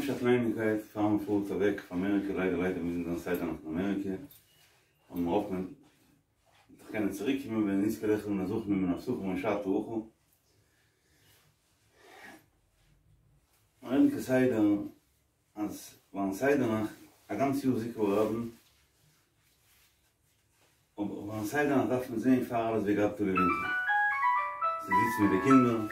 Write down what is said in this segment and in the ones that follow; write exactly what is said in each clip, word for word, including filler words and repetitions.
ממש א קלייניקייט פאר מען פארט אוועק אויף אמעריקע, ליידער ליידער מוז מען זיין סדר נאכט אין אמעריקע, און מיר האפן מען וועט דאך קענען צוריק קומען ווען נזכה לאכול מן הזכין ומן הפסחים און שתה אוכל. מיר רעדן כסדר אז ביים סדר נאכט א גאנץ יאר זיכוי הרבים, אבער ביים סדר נאכט דארף מען זען פאר אלעס והגדת לבנך, צו זיצן מיט די קינדער,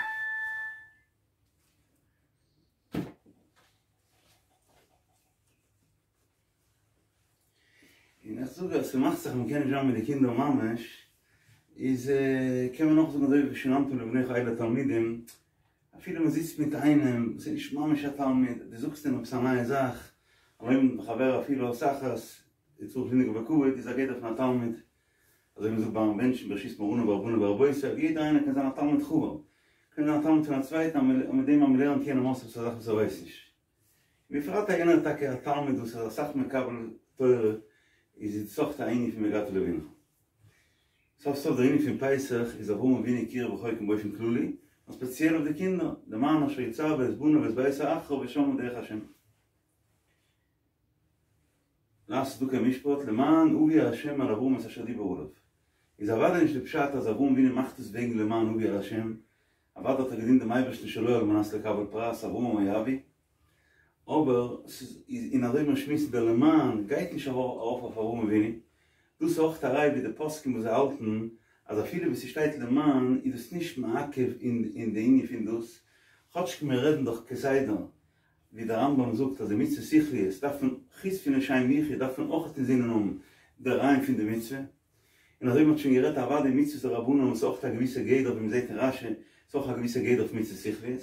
און איך זאג אז ס'מאכט זיך מ'קען נישט זיין מיט די קינדער ממש, איז קען מען נאך זאגן אזוי ווי ושננתם לבניך אלו התלמידים, אפילו מ'זיצט מיט איינעם וואס איז נישט ממש א תלמיד, דו זאגסט אים עפעס א נייע זאך, הלומד מחברו אפילו עת אחת, איז צריך לנהוג בו בכבוד, איז א גדר פון א תלמיד. אזוי ווי מ'זאגט ביים בענטשן ברשות מרנן ורבנן ורבותי, יעדער איינער קען זיין א תלמיד חבר, קען זיין א תלמיד פון א צווייטן אז מיט דעם אז מ'לערנט יענעם אויס עפעס א זאך וואס ער ווייסט נישט. ובפרט אז יענער איז טאקע א תלמיד וואס איז אסאך מקבל תורה, איז עס אויך א ענין פון והגדת לבנך. סוף סוף דער ענין פון פסח איז אברהם אבינו קירב רחוקים באופן כללי, נאר ספעציעל אויף די קינדער, למען אשר יצוה את בניו ואת ביתו אחריו ושמרו דרך השם. לעשות צדקה ומשפט למען הביא ה' על אברהם את אשר דיבר עליו. איז אוודאי נישט די פשט אז אברהם אבינו מאכט עס וועגן למען הביא על ה', אוודאי האט ער געדינט דעם אייבערשטן שלא על מנת לקבל פרס אברהם אוהבי, אבער ס'איז און אזוי ווי מיר שמועסן דער למען גייט נישט ארויף אויף אברהם אבינו, דאס איז אויך א ראי' ווי די פוסקים וואס זיי האלטן אז אפילו וואו ס'שטייט למען איז דאס נישט מעכב אין די ענין פון דאס, כאטש מיר רעדן דאך כסדר ווי דער רמב"ם זאגט אז די מצוות שכליות דארף מען, חוץ פון לשם יחוד דארף מען אויך אינזינען האבן די רעיון פון די מצוה, און אזוי ווי מ'האט שוין גערעדט אוודאי מצוות דרבנן איז אויך א געוויסע גדר ווי מ'זעט אין רש"י איז אויך א געוויסע גדר אויף מצוות שכליות,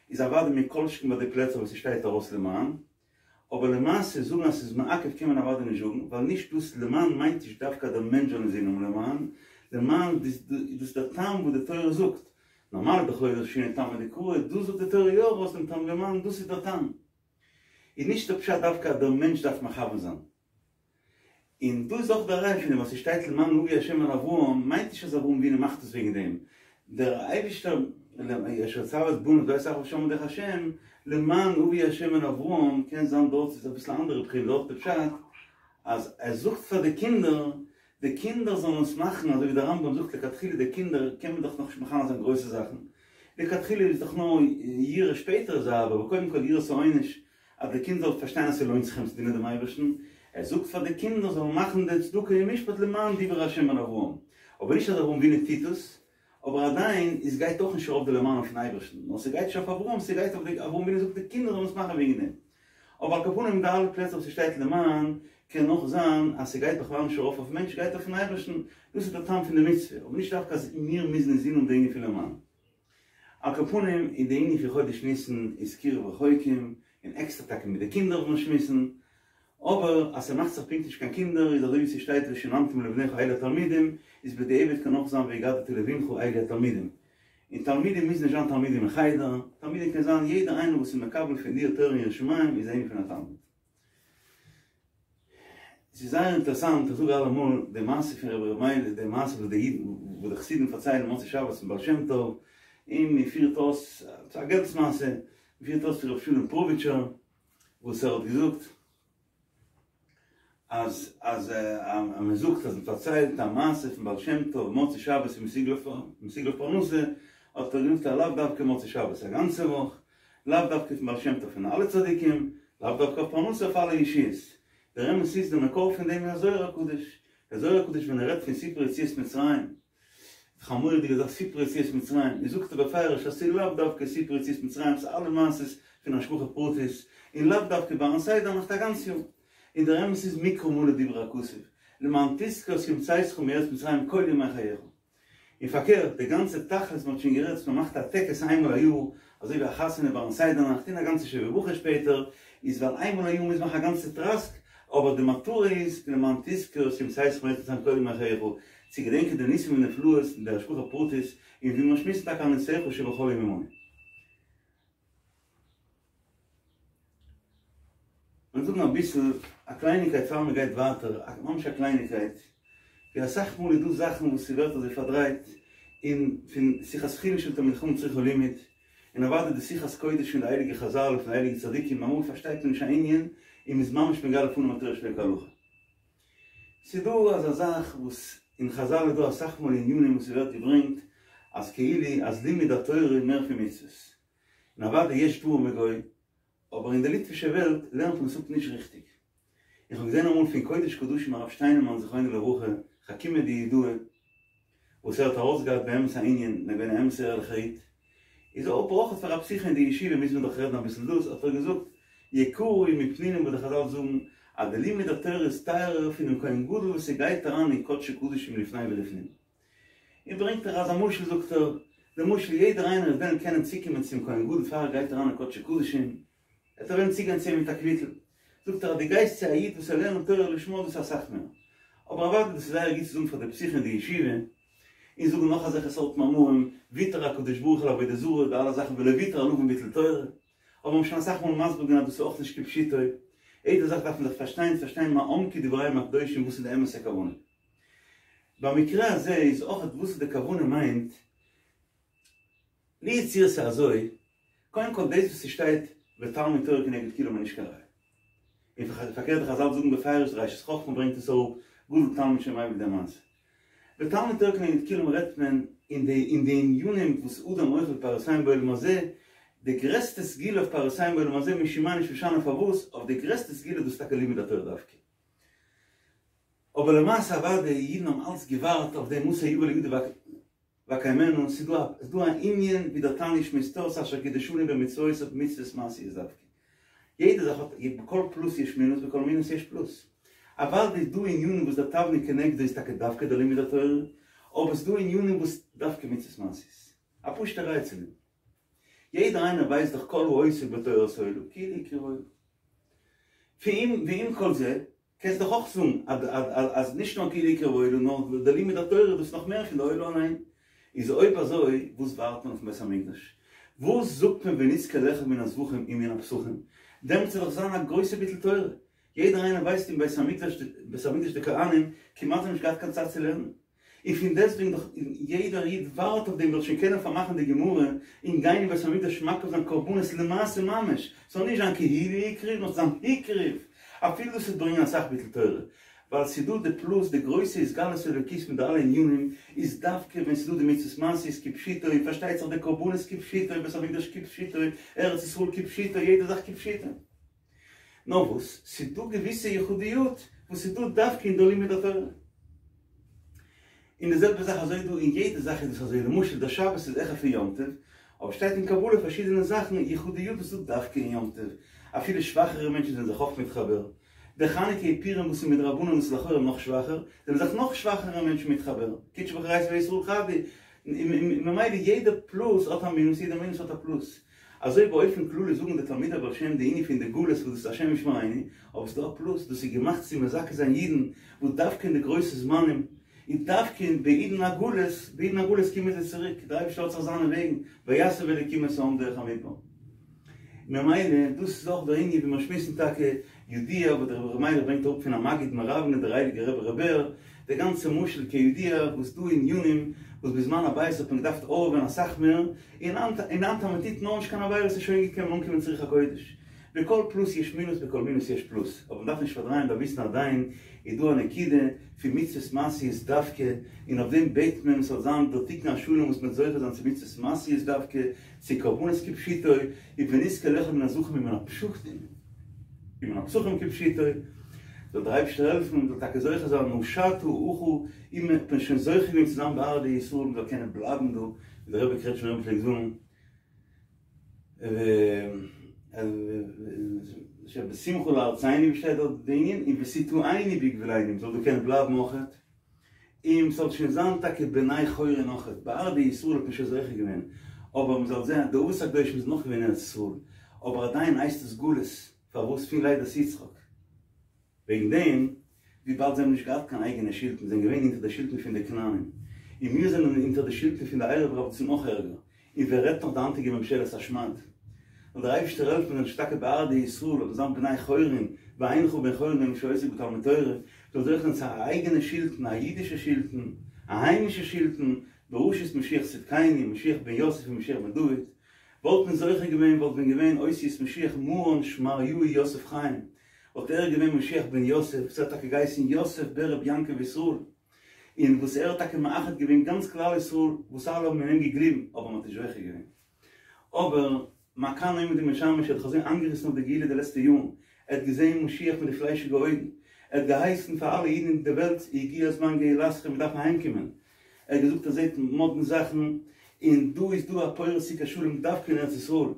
איז אוודאי מכל שכן ביי די פלעצער וואס ס'שטייט ארויס למען, אבער למעשה זאגן אז ס'איז מעכב קען מען אוודאי נישט זאגן, ווייל נישט דאס למען מיינט נישט דווקא אז דער מענטש זאל אינזין האבן למען, למען איז דאס דער טעם וואס די תורה זאגט, נארמאל איז דאך לא דרשינן טעמא דקרא, דא זאגט די תורה יא ארויס דעם טעם למען, דאס איז דער טעם. איז נישט דער פשט דווקא אז דער מענטש דארף מכוון זיין. און דא איז אויך דער ראיה פון דעם וואס ס'שטייט למען הביא השם אל אברהם מיינט נישט אז אברהם אבינו מאכט עס וועגן דעם, דער אייבישטער אשר יצוה את בניו ואת ביתו אחריו ושמרו דרך השם, למען הביא השם אל אברהם, קען זיין דארט איז אביסל א אנדערע בחינה דארט איז פשט אז ער זאגט פאר די קינדער די קינדער זאלן עס מאכן אזוי ווי דער רמב"ם זאגט לכתחילה די קינדער קען מען דאך נאכנישט מחנך זיין גרויסע זאכן, לכתחילה איז דאך נאר יראה שפעטער איז אהבה אבער קודם כל יראת העונש אז די קינד זאל פארשטיין אז ס'לוינט זיך אים צו דינען דעם אייבערשטן, ער זאגט פאר די קינדער זאלן מאכן די צדקה און משפט למען דיבר ה' אל אברהם, אבער נישט אז אברהם אבינו טוט עס, אבער עדיין איז גייט אויך נישט ארויף די למען אויפן אייבערשטן, נאר ס'גייט נישט אויף אברהם, ס'גייט אויף די, אברהם אבינו זאגט די קינדער זאלן עס מאכן וועגן דעם. אבער על כל פנים די אלע פלעצער וואס ס'שטייט למען, קען אויך זיין אז ס'גייט בכלל נישט ארויף אויפן מענטש, ס'גייט אויפן אייבערשטן, דאס איז דער טעם פון די מצוה, אבער נישט דווקא אז מיר מוזן אינזין האבן די ענין פון למען. על כל פנים אין די ענין פון חודש ניסן איז קירוב רחוקים, און עקסטער טאקע מיט די קינדער וואס מיר שמועסן, אבער אז ס'מאכט זיך פונקט נישט קיין קינדער איז אזוי ווי ס'שטייט ושננתם לבניך אלו התלמודים, איז בדיעבד קען אויך זיין והגדת לבנך אלו התלמודים. און תלמידים מוזן נישט זיין תלמידים אין חדר, תלמידים קען זיין יעדער איינער וואס איז מקבל פון דיר תורה און יראת שמים איז א ענין פון א תלמיד. ס'איז זייער אינטערעסאנט, איך זאג אלעמאל די מעשה פון רבי ר' מיילך, די מעשה וואס די אידן, וואס די חסידים פארציילן מוצאי שבת פון בעל שם טוב, און מען פירט אויס, ס'איז א געלטס מעשה, מען פירט אויס פון רבי שלום פרוביטשער, וואס ער האט געזאגט אז אז מען זאגט אז מען פארציילט א מעשה פון בעל שם טוב מוצאי שבת איז מסוגל מסוגל אויף פרנסה, האט ער געזאגט אז לאו דווקא מוצאי שבת, א גאנצע וואך, לאו דווקא פון בעל שם טוב פון אלע צדיקים, לאו דווקא אויף פרנסה אויף אלע ישועות. דער אמת איז דער מקור פון דעם איז א זוהר הקדוש. דער זוהר הקדוש ווען ער רעדט פון סיפור יציאת מצרים, איז דאך א מורא'דיגע זאך סיפור יציאת מצרים, איז זאגט ער בפירוש אז ס'איז לאו דווקא סיפור יציאת מצרים, ס'איז אלע מעשות פון השגחה פרטית, און לאו דווקא ביים סדר נאכט א גאנץ יאר. און דער אמת איז מקרא מלא דיבר הכתוב, למען תזכור את יום צאתך מארץ מצרים כל ימי חייך. און פארקערט, די גאנצע תכלית מ'האט שוין גערעדט, מ'מאכט א טקס איינמאל א יאר, אזוי ווי א חתונה ביים סדר נאכט און א גאנצע שבע ברכות שפעטער, איז ווייל איינמאל א יאר מוז מאכן א גאנצע טראסק, אבער די מטרה איז למען תזכור את יום צאתך מארץ מצרים כל ימי חייך, צו געדענקען די ניסים ונפלאות און די השגחה פרטית, און ווי מיר שמועסן טאקע על נסיך שבכל יום עמנו. כ'וועל זאגן אביסל א קלייניקייט פאר מען גייט ווייטער, ממש א קלייניקייט, ווי אסאך מאל איז דא זאכן וואס ס'ווערט אזוי פארדרייט, און פון שיחת חולין של תלמידי חכמים צריכה לימוד, און אוודאי די שיחת קודש פון די הייליגע חזל און פון די הייליגע צדיקים, אמאל פארשטייט מען נישט א ענין און מ'איז ממש מגלה פנים התורה שלא כהלכה. ס'איז דא אזא זאך וואס אין חזל איז דא אסאך מאל ענינים וואס ס'ווערט געברענגט אז כאילו אז לימוד התורה איז מער פון מצוות, און אוודאי יש דברים בגו, אבער אין די ליטווישע וועלט לערנט מען עס אפ נישט ריכטיג. איך האב געזען אמאל פון קודש קדשים הרב שטיינמאן זכרונו לברכה, חכימא דיהודאי, וואס ער האט ארויסגעהאט באמת א ענין, און ער געווען א אמת'ע ערליכער איד, איז אויב אויך פאר א פתיחה אין די ישיבה מוז מען דאך רעדן אביסל דאס, האט ער געזאגט, יקרה היא מפנינים וואס די חזל זאגן אז די לימוד התורה איז טייערער פונעם כהן גדול וואס ער גייט אריין אין קדשי קדשים לפני ולפנים. און ברענגט ער אזא משל זאגט ער, די משל יעדער איינער וועט וועלן קענען צוקומען צום כהן גדול פאר ער גייט אריין אין קדשי קדשים, וועט ער וועלן צוגיין צו אים מיט א קוויטל, זאגט ער אז דו גייסט צו א איד וואס ער לערנט תורה לשמה דאס איז אסאך מער, אבער אוודאי דאס איז זייער גוט צו זאגן פאר די פתיחה אין די ישיבה, און זאגן נאך אזעלכע סארט מאמרים, ויתר הקדוש ברוך הוא על עבודה זרה, די אלע זאכן ולא ויתר על עוון ביטול תורה, אבער מ'האט שוין אסאך מאל מסביר געווען אז דאס איז אויך נישט כפשוטו, יעדע זאך דארף מען זיך פארשטיין, פארשטיין מה עמקו דבריהם הקדושים וואס איז די אמת'ע כוונה. במקרה הזה איז אויך וואס איז די כוונה מיינט, לו יצויר ס'איז אזוי, קודם כל דאס וואס ס'שטייט ותלמוד תורה כנגד כולם איז נישט קיין ראיה. און פארקערט די חזל זאגן בפירוש די ראשית חכמה ברענגט עס אראפ, גדול תלמוד שמביא לידי מעשה. ותלמוד תורה כנגד כולם רעדט מען אין די אין די ענינים וואס אדם אוכל פירותיהם בעולם הזה, די גרעסטע סגולה אויף פירותיהם בעולם הזה משום מה נישט משנה פארוואס, אויף די גרעסטע סגולה דאס איז טאקע לימוד התורה דווקא. אבער למעשה אוודאי אידן האבן אלץ געווארט אויף דעם מתי יבא לידי ואקיימנו, ס'איז דא א ס'איז דא א ענין ווי דער תניא שמועסט אויס אשר קדשנו במצוותיו מצוות מעשיות דווקא. יעדע זאך האט, בכל פלוס יש מינוס בכל מינוס יש פלוס. אוודאי איז דא ענינים וואס דער תבלין כנגדו איז טאקע דווקא דער לימוד התורה, אבער ס'איז דא ענינים וואס דווקא מצוות מעשיות. א פשוט'ע ראיה צו דעם. יעדער איינער ווייסט דאך כל העוסק בתורת עולה כאילו הקריב עולה. ועם כל זה, קענסט דאך אויך זאגן אז נישט נאר כאילו הקריב עולה נאר די לימוד התורה דאס איז נאך מער פון די עולה אליין. איז אויב אזוי וואס ווארט מען אויפן בית המקדש? וואס זאגט מען ונזכה לאכול מן הזבחים ומן הפסחים? דעמאלטס וועט דאך זיין א גרויסע ביטול תורה. יעדער איינער ווייסט אין בית המקדש בית המקדש די כהנים כמעט האבן נישט געהאט קיין צייט צו לערנען. און פון דעסטוועגן דאך יעדער איד ווארט אויף דעם זאל שוין קענען פארמאכן די גמרא און גיין אין בית המקדש מקריב זיין קרבנות למעשה ממש, ס'זאל נישט זיין כאילו הקריב נאר ס'זאל זיין הקריב, אפילו דאס וועט ברענגען אסאך ביטול תורה, ווייל ס'איז דא די פלוס די גרויסע התגלות אלוקית מיט די אלע ענינים איז דווקא ווען ס'איז דא די מצוות מעשיות כפשוטו און פארשטייט זיך די קרבנות כפשוטו בית המקדש כפשוטו ארץ ישראל כפשוטו יעדע זאך כפשוטו. נאר וואס, ס'איז דא געוויסע יחודיות וואס איז דא דווקא אין די לימוד התורה. און די זעלבע זאך אזוי דא, אין יעדע זאך איז דאס אזוי, למשל דער שבת איז העכער פון יום טוב, אבער שטייט אין קבלה פארשידענע זאכן יחודיות וואס איז דא דווקא אין יום טוב, אפילו שוואכערע מענטשן זענען זיך אויך מתחבר. דער חנוכה און פורים וואס איז מדרבנן וואס איז לכאורה נאך שוואכער, זענען זיך נאך שוואכערע מענטשן מתחבר, קודשא בריך הוא אורייתא וישראל חד הוא, ממילא יעדע פלוס האט א מינוס, יעדע מינוס האט א פלוס. אזוי באופן כללי זאגן די תלמידי הבעל שם די ענין פון די גלות וואס דאס איז השם ישמרינו, אבער ס'איז דא א פלוס, דאס איז געמאכט צו מזכה זיין אידן וואס דווקא אין די גרויסע זמנים, און דווקא אין בעידן הגלות, בעידן הגלות קומען זיי צוריק, דער אייבערשטער האט זיך זיינע וועגן, ויסב אלוקים את העם דרך המדבר. ממילא דאס איז אויך דער ענין ווי מיר שמועסן טאקע, ידוע וואס דער רבי ר' מיילעך ברענגט אראפ פון המגיד מראוונע דער הייליגער רבי ר' בער, דער גאנצע משל כידוע וואס דא ענינים וואס בזמן הבית האט מען געדארפט הארעווען אסאך מער, און היינט און היינט אז מען טוט נאר נישט קיין עבירות איז שוין גוט קען מען אנקומען צו רוח הקודש. בכל פלוס יש מינוס בכל מינוס יש פלוס, אבער מען דארף נישט פארדרייען דארף וויסן עדיין איז דא א נקודה פון מצוות מעשיות דווקא, און אויף דעם בעט מען ס'זאל זיין דער תיקון השלם וואס מ'וועט זוכה זיין צו מצוות מעשיות דווקא, צו קרבנות כפשוטו, און ונזכה לאכול מן הזבחים ומן הפשחים, ומן הפסחים כפשוטו, זאל דער אייבערשטער העלפן מען זאל טאקע זוכה זיין און השתא הכא און מען האט שוין זוכה געווען צו זיין בארעא דישראל מען זאל קענען בלייבן דא, ווי דער רבי קרעטשמער רבי פלעגט זאגן, בשמחה לארצינו ווי שטייט דארט די ענין, און ותטענו בגבולנו מען זאל דא קענען בלייבן אויכעט, און ס'זאל שוין זיין טאקע בני חורין אויכעט, בארעא דישראל האט מען שוין זוכה געווען, אבער מען זאל זען די אבות הקדושים זענען נאך געווען אין ארץ ישראל, אבער עדיין הייסט עס גלות, פארוואס פון לידת יצחק? וועגן דעם, וויבאלד זיי האבן נישט געהאט קיין אייגענע שלטון, זענען געווען אונטער די שלטון פון די כנענים, און מיר זענען אונטער די שלטון פון די ערב רב וואס איז נאך ערגער, און ווער רעדט נאך די היינטיגע ממשלת השמד. זאל דער אייבערשטער העלפן מיר זאלן טאקע בארעא דישראל אבער זיין בני חורין, ואינך בן חורין אלא שעוסק בתלמוד תורה, זאל זוכה זיין צו א אייגענע שלטון, א אידישע שלטון, א היימישע שלטון, בראשות משיח צדקינו, משיח בן יוסף און משיח בן דוד, וואלט מען זוכה געווען וואלט ווען געווען אותיות משיח מרן שמריהו יוסף חיים, וואלט ער געווען משיח בן יוסף, וואס ער האט טאקע געהייסן יוסף ברב יעקב ישראל, און וואס ער האט טאקע מאחד געווען גאנץ כלל ישראל וואס אלע האבן אין אים געגליבן, אבער מען האט נישט זוכה געווען. אבער מה כאן עומד ומשמש, ער האט זיך אזוי איינגעריסן אויף די גאולה די לעצטע יארן, ער האט געזען משיח מיט די פליישיגע אויגן, ער האט געהייסן פאר אלע אידן אין די וועלט הגיע זמן גאולתכם מיר דארפן אהיימקומען, ער האט געזאגט ער זעט מאדנע זאכן, און דא איז דא א פורס סוכת שלום דווקא אין ארץ ישראל,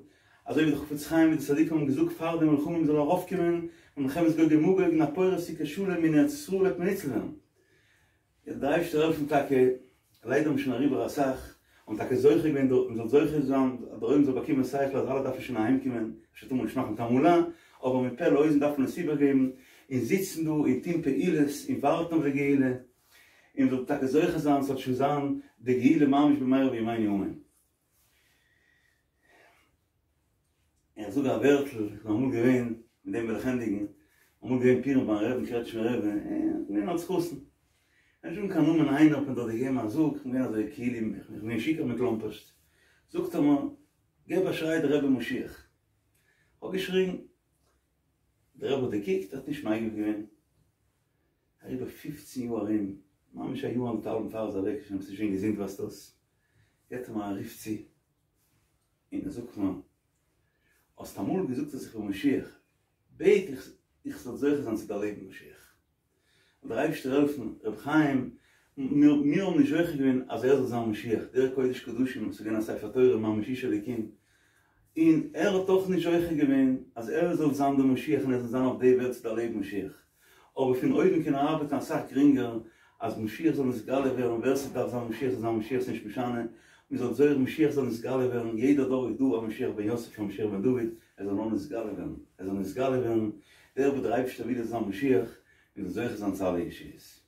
אזוי ווי די חפץ חיים מיט די צדיקים האבן געזאגט פאר די מלחמה מען זאל ארויפקומען, מלחמת גוג ומגוג און א פורס סוכת שלום אין ארץ ישראל וועט מען ניצל ווערן. זאל דער אייבערשטער העלפן טאקע, ליידער האבן שוין אריבער אסאך, האבן טאקע זוכה געווען דארט, מען זאל זוכה זיין אז דער עולם זאל באקומען שכל אז אלע דארפן שוין אהיים קומען, אפשר טאר מען נישט מאכן תעמולה, אבער מפה לאוזן דארף מען עס איבערגעבן, און זיצן דא און טון פעולות און ווארטן אויף די גאולה, און מ'זאל טאקע זוכה זיין ס'זאל שוין זיין די גאולה ממש במהרה בימינו אמן. איך זאג א ווערטל, איך בין אמאל געווען, מיט דעם וועל איך ענדיגן, אמאל געווען פורים ביים רעבן קרעטשמער רבי, איך בין געווען אלס חתן, נישט זאגן קיין נאמען איינער האט מיר דארט געגעבן א זאג, איך בין געווען אזוי כאילו, איך בין געווען שיכור מכלומפערשט, זאגט ער מיר, געב א שריי דער רבי משיח, איך האב געשריגן, דער רבי האט געקוקט, האט נישט מגיב געווען, אריבער פֿופֿצן יאר ארום, ממש א יאר אנדערטהאלבן פאר ער איז אוועק, שוין שוין געזונט ווייזט אויס, געט ער מיר א רוף צו, און ער זאגט מיר, האסט אמאל געזאגט אז איך בין משיח, בעט איך איך זאל זוכה זיין צו דערלעבן משיח. זאל דער אייבערשטער העלפן, רבי חיים, מיר מיר האבן נישט זוכה געווען אז ער זאל זיין משיח, דער קודש קדשים וואס איז געווען א ספר תורה ממש איש אלוקים, און ער האט אויך נישט זוכה געווען אז ער זאל זיין דער משיח און ער זאל זיין אויף די וועלט צו דערלעבן משיח. אבער פון אויבן קען ער ארבעטן אסאך גרינגער אז משיח זאל נתגלה ווערן, ווער ס'דארף זיין משיח זאל זיין משיח ס'נישט משנה, מ'זאל זוכה משיח זאל נתגלה ווערן, יעדע דור איז דא א משיח בן יוסף א משיח בן דוד, ער זאל נאר נתגלה ווערן, ער זאל נתגלה ווערן, דער וואס דער אייבערשטער וויל ער זאל זיין משיח, מ'זאל זוכה זיין צו אלע ישועות.